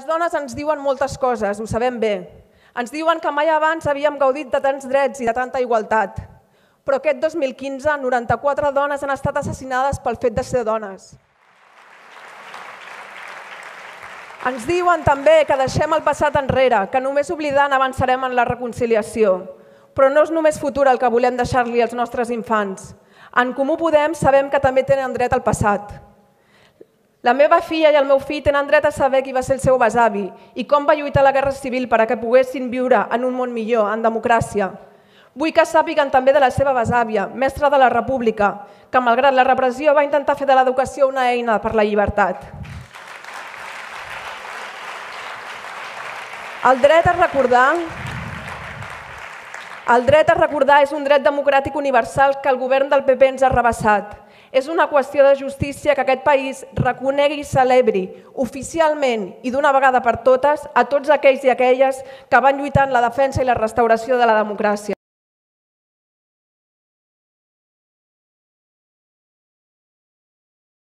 dones ens diuen moltes coses, ho sabem bé. Ens diuen que mai abans havíem gaudit de tants drets i de tanta igualtat. Però aquest 2015, 94 dones han estat assassinades pel fet de ser dones. Ens diuen també que deixem el passat enrere, que només oblidant avançarem en la reconciliació. Però no és només futur el que volem deixar-li als nostres infants. En Comú Podem sabem que també tenen dret al passat. La meva filla i el meu fill tenen dret a saber qui va ser el seu besavi i com va lluitar a la Guerra Civil per a que poguessin viure en un món millor, en democràcia. Vull que sàpiguen també de la seva besàvia, mestra de la República, que malgrat la repressió va intentar fer de l'educació una eina per la llibertat. El dret a recordar és un dret democràtic universal que el govern del PP ens ha rebassat. És una qüestió de justícia que aquest país reconegui i celebri oficialment i d'una vegada per totes a tots aquells i aquelles que van lluitar en la defensa i la restauració de la democràcia.